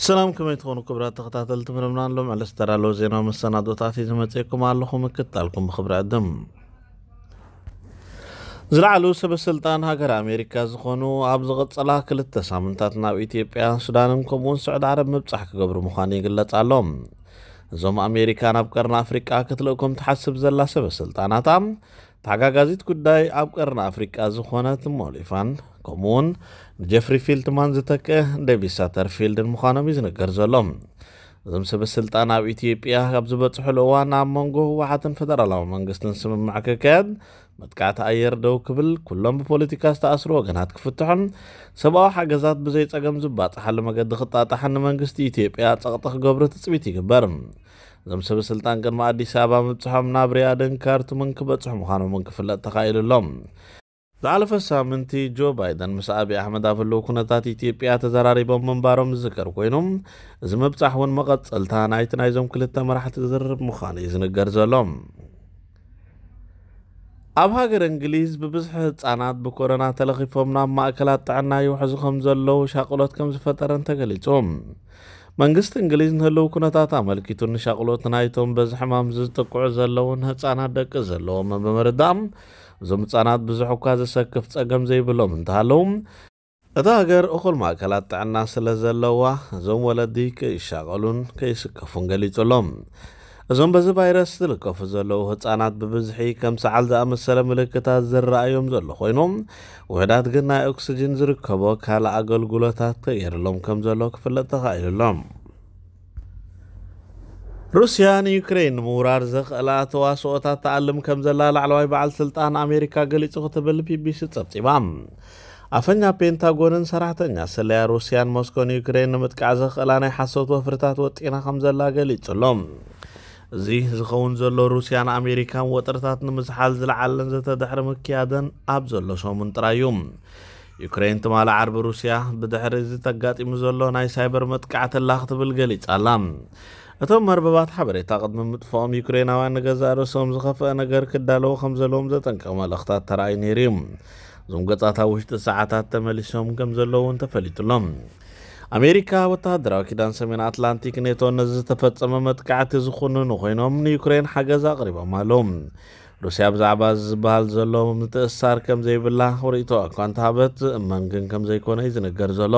ሰላም፣ ከመይ ትኾኑ ክቡራት ተኸታተልቲ መደብና? ሎም ዕለት ዝተዳለወ ዜናዊ መሰናዶታት እዩ ዝመጽእኩም ኣለኹ። ምክትታልኩም ብኽብሪ ዕድም። ዝለዓሉ ሰበ ስልጣን ሃገር ኣሜሪካ ዝኾኑ ኣብ ዝቐጸላ ክልተ ሳምንታት ናብ ኢትዮጵያ፣ ሱዳንን ከምኡውን ስዑድ ዓረብ ምብጻሕ ክገብሩ ምዃኑ ይግለጽ ኣሎ። እዞም ኣሜሪካ ናብ ቀርኒ ኣፍሪቃ ክትልእኮም ትሓስብ ዘላ ሰበ ስልጣናታ፣ ተሓጋጋዚት ጉዳይ ኣብ ቀርኒ ኣፍሪቃ ዝኾነት ሞሊፋን ከምኡውን ንጀፍሪ ፊልትማን ዝተክእ ዴቪድ ሳተርፊልድን ምዃኖም እዩ ዝንገር ዘሎ። እዞም ሰበ ስልጣን ኣብ ኢትዮጵያ ኣብ ዝበጽሕሉ እዋን ኣብ መንጎ ህወሓትን ፈደራላዊ መንግስትን ስምምዕ ክካየድ፣ መጥቃዕቲ ኣየር ደው ክብል፣ ኩሎም ብፖለቲካ ዝተኣስሩ ወገናት ክፍትሑን ሰብኣዊ ሓገዛት ብዘይ ጸገም ዝባጽሓሉ መገዲ ክጣጣሕን ንመንግስቲ ኢትዮጵያ ጸቕጢ ክገብሩ ትጽቢት ይግበር። እዞም ሰበ ስልጣን ቅድሚ ኣዲስ ኣበባ ምብጽሖም ናብ ሪያድን ካርቱምን ክበጽሑ ምዃኖምን ክፍለጥ ተኻኢሉ ኣሎ። ዝሓለፈ ሳምንቲ ጆ ባይደን ምስ ኣብይ ኣሕመድ ኣብ ህልው ኩነታት ኢትዮጵያ ተዘራሪቦም ምንባሮም ዝዝከር ኮይኑ፣ እዚ ምብጻሕ እውን መቐጸልታ ናይቲ ናይዞም ክልተ መራሕቲ ዝርርብ ምዃኑ እዩ ዝንገር ዘሎ። ኣብ ሃገር እንግሊዝ ብብዝሒ ህጻናት ብኮሮና ተለኺፎም ናብ ማእከላት ጥዕና ይውሕዙ ከም ዘለዉ ሻቕሎት ከም ዝፈጠረን ተገሊጹ። መንግስቲ እንግሊዝ ንህልው ኩነታት ኣመልኪቱ ንሻቕሎት ናይቶም በዚ ሕማም ዝጥቅዑ ዘለውን ህጻናት ደቂ ዘለዎም ብምርዳእ፣ እዞም ህጻናት ብዙሕ እኳ ዘሰክፍ ጸገም ዘይብሎም እንተሃለዉ፣ እታ ሃገር እኹል ማእከላት ጥዕና ስለ ዘለዋ፣ እዞም ወለዲ ከይሻቐሉን ከይስከፉን ገሊጹ ኣሎ። እዞም በዚ ቫይረስ ዝልከፉ ዘለዉ ህጻናት ብብዝሒ ከም ሰዓል ዝኣመሰለ ምልክታት ዝረኣዮም ዘሎ ኮይኖም፣ ውሑዳት ግን ናይ ኦክስጅን ዝርከቦ ካልእ ኣገልግሎታት ተገይርሎም ከም ዘሎ ክፍለጥ ተኻኢሉ ኣሎ። ሩስያ ንዩክሬን ንምውራር ዘኽእላ ተዋስኦታት ትኣልም ከም ዘላ ላዕለዋይ በዓል ስልጣን ኣሜሪካ ገሊጹ ክትብል ቢቢሲ ጸብጺባ። ኣፈኛ ፔንታጎንን ሰራሕተኛ ስለያ ሩስያን ሞስኮ ንዩክሬን ንምጥቃዕ ዘኽእላ ናይ ሓሶት ወፍርታት ወጢና ከም ዘላ ገሊጹ ኣሎ። እዚ ዝኸውን ዘሎ ሩስያን ኣሜሪካን ወጥርታት ንምዝሓል ዝለዓለን ዘተ ድሕሪ ምክያደን ኣብ ዘሎ ሰሙን ጥራይ እዩ። ዩክሬን ትማሊ ዓርቢ ሩስያ ብድሕሪ እዚ ተጋጢሙ ዘሎ ናይ ሳይበር መጥቃዕቲ ኣላ ክትብል ገሊጻ ኣላ። እቶም መርበባት ሓበሬታ ቅድሚ ምጥፍኦም ዩክሬናውያን ንገዛእ ርእሶም ዝኸፍአ ነገር ክዳለዉ ከም ዘለዎም ዘጠንቅቕ መልእኽታት ተራእዩ ነይሩ እዩ። እዞም ገጻት ኣብ ውሽጢ ሰዓታት ተመሊሶም ከም ዘለዉ እውን ተፈሊጡ ኣሎ። ኣሜሪካ ወተሃደራዊ ኪዳን ሰሜን ኣትላንቲክ ኔቶ ነዚ ዝተፈጸመ መጥቃዕቲ ዝኹንኑ ኮይኖም ንዩክሬን ሓገዝ ኣቕሪቦም ኣለዉ። ሩስያ ብዛዕባ እዚ ዝበሃል ዘሎ ምትእስሳር ከም ዘይብላ ርእይቶ እኳ እንተሃበት፣ ዝእመን ግን ከም ዘይኮነ እዩ ዝንገር ዘሎ።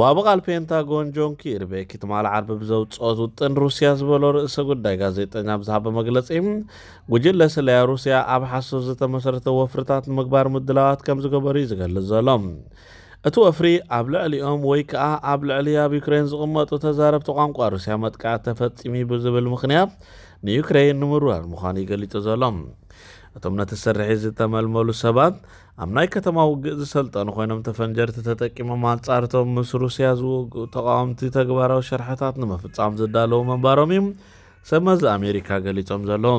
ወሃቢ ቃል ፔንታጎን ጆን ኪርቢ ትማሊ ዓርቢ ብዘውፅኦት ውጥን ሩስያ ዝበሎ ርእሰ ጉዳይ ጋዜጠኛ ብዝሃበ መግለፂ፣ ጉጅለ ስለያ ሩስያ ኣብ ሓሶት ዝተመሰረተ ወፍርታት ንምግባር ምድላዋት ከም ዝገበሩ እዩ ዝገልጽ ዘሎ። እቲ ወፍሪ ኣብ ልዕሊኦም ወይ ከኣ ኣብ ልዕሊ ኣብ ዩክሬን ዝቕመጡ ተዛረብቲ ቋንቋ ሩስያ መጥቃዕቲ ተፈጺሙ ብዝብል ምኽንያት ንዩክሬን ንምርዋር ምዃኑ እዩ ገሊጹ ዘሎ። እቶም ነቲ ስርሒት ዝተመልመሉ ሰባት ኣብ ናይ ከተማ ውግእ ዝሰልጠኑ ኮይኖም፣ ተፈንጀርቲ ተጠቂሞም ኣንጻርቶም ምስ ሩስያ ዝውግኡ ተቓወምቲ ተግባራዊ ሸርሕታት ንምፍጻም ዝዳለዉ ምንባሮም እዩ ሰመዚ ኣሜሪካ ገሊጾም ዘለዉ።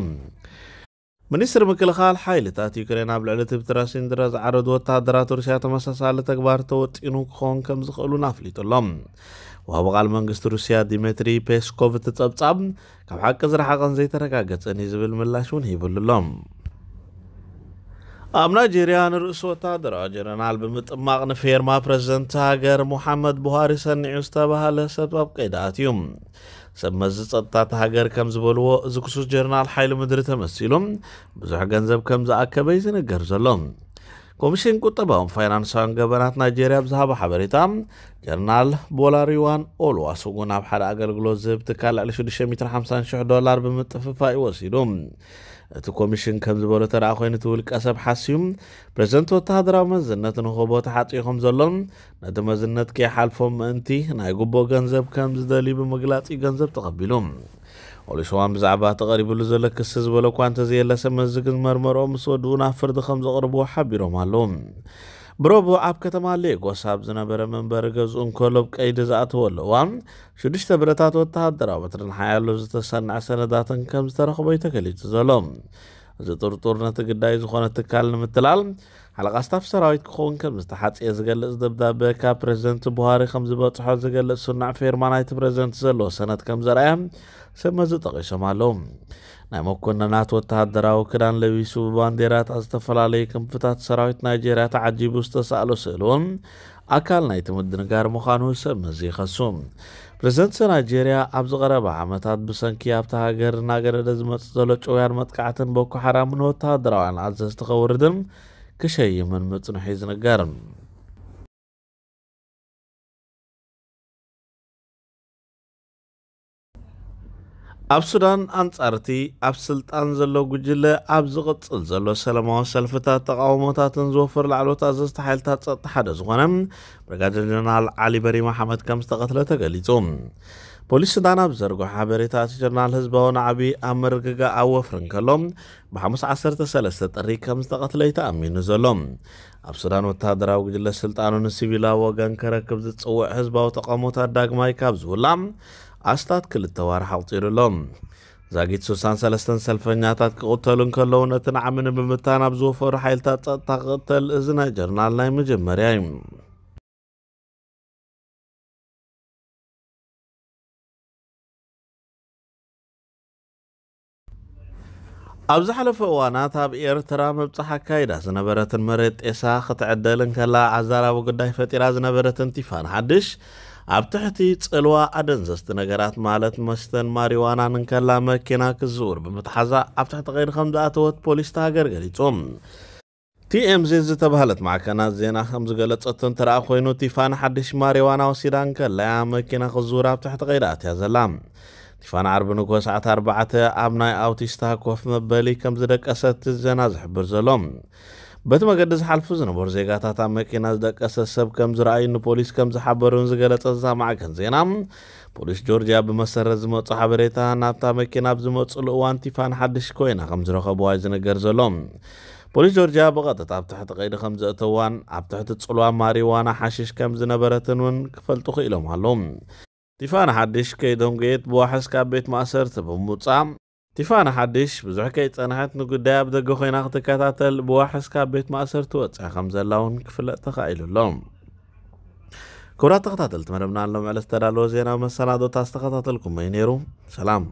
ሚኒስትሪ ምክልኻል ሓይልታት ዩክሬን ኣብ ልዕሊ ትብትራ ሲንድራ ዝዓረዱ ወተሃደራት ሩስያ ተመሳሳሊ ተግባር ተወጢኑ ክኸውን ከም ዝኽእሉን ኣፍሊጡ ኣሎ። ወሃቢ ቃል መንግስቲ ሩስያ ዲሜትሪ ፔስኮቭ እቲ ጸብጻብ ካብ ሓቂ ዝረሓቐን ዘይተረጋገጸን እዩ ዝብል ምላሽ እውን ሂብሉ ኣሎ። ኣብ ናይጄርያ ንርእሱ ወተሃደራዊ ጀነራል ብምጥማቕ ንፌርማ ፕረዚደንት ሃገር ሙሓመድ ቡሃሪ ሰኒዑ ዝተባህለ ሰብ ኣብ ቀይዲ ኣትዩ። ሰብ መዚ ጸጥታ እታ ሃገር ከም ዝበልዎ፣ እዚ ክሱስ ጀነራል ሓይሊ ምድሪ ተመሲሉ ብዙሕ ገንዘብ ከም ዝኣከበ እዩ ዝንገር ዘሎ። ኮሚሽን ቁጠባውን ፋይናንሳውን ገበናት ናይጄርያ ብዝሃቦ ሓበሬታ፣ ጀነራል ቦላሪዋን ኦልዋሱጉን ኣብ ሓደ ኣገልግሎት ዝህብ ትካል ልዕሊ ሽዱሽተ ሚእትን ሓምሳን ሽሕ ዶላር ብምጥፍፋእ እዩ ወሲዱ። እቲ ኮሚሽን ከም ዝበሎ ተደኣ ኮይኑ፣ እቲ ውልቀ ሰብ ሓስዩ ፕረዚደንት ወተሃደራዊ መዝነት ንክህቦ ተሓጽዩ ከም ዘሎን ነቲ መዝነት ከይሓልፎ ምእንቲ ናይ ጉቦ ገንዘብ ከም ዝደልዩ ብምግላጽ እዩ ገንዘብ ተቐቢሉ። ኦሉሽዋን ብዛዕባ እቲ ቀሪብሉ ዘሎ ክሲ ዝበሎ እኳ እንተዘየለ፣ ሰብ መዚ ግን መርመርኦም ምስ ወድኡ ናብ ፍርዲ ከም ዘቕርብዎ ሓቢሮም ኣለዉ። ብረቡዕ ኣብ ከተማ ሌጎስ ኣብ ዝነበረ መንበሪ ገዝኡ እንከሎ ኣብ ቀይዲ ዝኣተወሉ እዋን፣ ሽዱሽተ ብረታት ወተሃደራዊ በትርን ሓያሎ ዝተሰንዐ ሰነዳትን ከም ዝተረኽቦ እዩ ተገሊጹ ዘሎ። እዚ ጥርጡር ነቲ ግዳይ ዝኾነ ትካል ንምትላል ሓለቓ ስታፍ ሰራዊት ክኸውን ከም ዝተሓጽየ ዝገልጽ ደብዳበ ካብ ፕረዚደንት ቡሃሪ ከም ዝበጽሖ ዝገልጽ ስኑዕ ፌርማ ናይቲ ፕረዚደንት ዘለዎ ሰነድ ከም ዘርኣየ ሰብ መዚ ጠቒሶም ኣለዉ። ናይ መኮንናት ወተሃደራዊ ክዳን ለቢሱ ብባንዴራታት ዝተፈላለዩ ክንፍታት ሰራዊት ናይጄርያ ተዓጂቡ ዝተሳእሎ ስእሊ እውን ኣካል ናይቲ ምድንጋር ምዃኑ ሰብ መዚ ይኸሱ። ፕሬዝደንት ናይጄርያ ኣብዚ ቀረባ ዓመታት ብሰንኪ ኣብታ ሃገር እናገደደ ዝመጽእ ዘሎ ጭውያን መጥቃዕትን ቦኮ ሓራምን ወተሃደራውያን ኣዘዝቲ ከውርድን ክሸይምን ምጽንሑ እዩ ዝንገር። ኣብ ሱዳን ኣንጻር እቲ ኣብ ስልጣን ዘሎ ጉጅለ ኣብ ዝቕጽል ዘሎ ሰላማዊ ሰልፍታት ተቓውሞታትን ዝወፈሩ ላዕለዎት ኣዘዝቲ ሓይልታት ጸጥታ ሓደ ዝኾነ ብርጋዴር ጀነራል ዓሊ በሪ መሓመድ ከም ዝተቐትለ ተገሊጹ። ፖሊስ ሱዳን ኣብ ዘርግሖ ሓበሬታ እቲ ጀነራል ህዝባዊ ናዕቢ ኣብ ምርግጋእ ኣብ ወፍሪ እንከሎ ብሓሙስ ዓሰርተ ሰለስተ ጥሪ ከም ዝተቐትለ እዩ ተኣሚኑ ዘሎ። ኣብ ሱዳን ወተሃደራዊ ጉጅለ ስልጣኑ ንሲቪላዊ ወገን ከረክብ ዝጽውዕ ህዝባዊ ተቓውሞታት ዳግማይ ካብ ዝውላ ኣስታት ክልተ ዋርሕ ኣቑጺሩ ኣሎ። ዛጊት ስሳን ሰለስተን ሰልፈኛታት ክቕተሉ እንከለዉ ነቲ ናዕሚ ንምብታን ኣብ ዝወፈሩ ሓይልታት ጸጥታ ክቕተል እዚ ናይ ጀርናል ናይ መጀመርያ እዩ። ኣብ ዝሓለፈ እዋናት ኣብ ኤርትራ ምብጻሕ ኣካይዳ ዝነበረትን መሬት ጤሳ ክትዕደል እንከላ ኣዛራቢ ጉዳይ ፈጢራ ዝነበረትን ቲፋን ሓድሽ ኣብ ትሕቲ ጽልዋ ኣደንዘዝቲ ነገራት ማለት መስተን ማሪዋናን እንከላ መኪና ክዝውር ብምትሓዛ ኣብ ትሕቲ ቀይዲ ከም ዝኣተወት ፖሊስ እታ ሃገር ገሊጹ። ቲኤምዚ ዝተባህለት ማዕከናት ዜና ከም ዝገለጸቶ እንተ ደኣ ኮይኑ ቲፋን ሓድሽ ማሪዋና ወሲዳ እንከላ እያ መኪና ክዝውር ኣብ ትሕቲ ቀይዲ ኣትያ ዘላ። ቲፋን ዓርቢ ንግሆ ሰዓት ኣርባዕተ ኣብ ናይ ኣውቲስታ ኮፍ መበሊ ከም ዝደቀሰት ዜና ዝሕብር ዘሎ። በቲ መገዲ ዝሓልፉ ዝነበሩ ዜጋታት ኣብ መኪና ዝደቀሰ ሰብ ከም ዝረኣዩ ንፖሊስ ከም ዝሓበሩን ዝገለጸት እዛ ማዕከን ዜና ፖሊስ ጆርጅያ ብመሰረት ዝመጹ ሓበሬታ ናብታ መኪና ኣብ ዝመጹሉ እዋን ቲፋን ሓድሽ ኮይና ከም ዝረኸብዋ እዩ ዝነገር ዘሎ። ፖሊስ ጆርጅያ ብቐጥታ ኣብ ትሕቲ ቀይዲ ከም ዘእተዋን ኣብ ትሕቲ ጽልዋ ማሪዋና ሓሽሽ ከም ዝነበረትን እውን ክፈልጡ ክኢሎም ኣለዉ። ቲፋን ሓድሽ ከይደንጎየት ብዋሕስ ካብ ቤት ማእሰርቲ ብምውጻእ ቲፋን ሓድሽ ብዙሕ ከይጸንሐት ንጉዳይ ኣብ ደገ ኮይና ክትከታተል ብዋሕስ ካብ ቤት ማእሰርቲ ወጽያ ከም ዘላ እውን ክፍለጥ ተኻኢሉ ኣሎ። ክቡራት ተኸታተልቲ መደብና ሎም ዕለት ዝተዳለወ ዜናዊ መሰናዶታት ዝተኸታተልኩም እዩ ነይሩ። ሰላም።